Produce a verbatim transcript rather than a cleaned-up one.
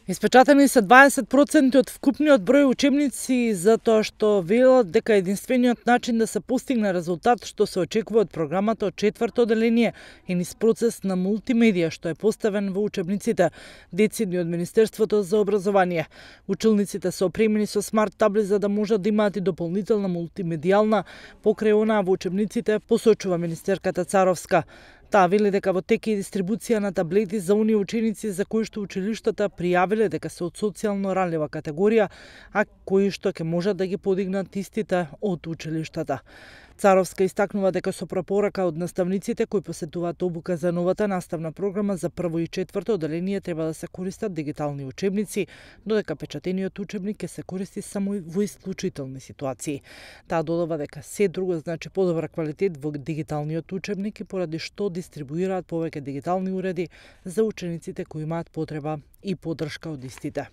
Испечатени се дваесет проценти од вкупниот број учебници затоа што велат дека единствениот начин да се постигне резултат што се очекува од програмата од четврто одделение е низ процес на мултимедија што е поставен во учебниците, децидни од Министерството за образование. Училниците се опремени со смарт табли за да можат да имаат и дополнителна мултимедијална покрај онаа во учебниците, посочува министерката Царовска. Таа вели дека во тек е дистрибуција на таблети за оние ученици за кои што училиштата пријавиле дека се од социјално ранлива категорија, а кои што ќе можат да ги подигнат истите од училиштата. Царовска истакнува дека со препорака од наставниците кои посетуваат обука за новата наставна програма за прво и четврто одделение треба да се користат дигитални учебници, додека печатениот учебник ќе се користи само во исклучителни ситуации. Таа додава дека се друго значи подобра квалитет во дигиталниот учебник и поради што дистрибуираат повеќе дигитални уреди за учениците кои имаат потреба и поддршка од истите.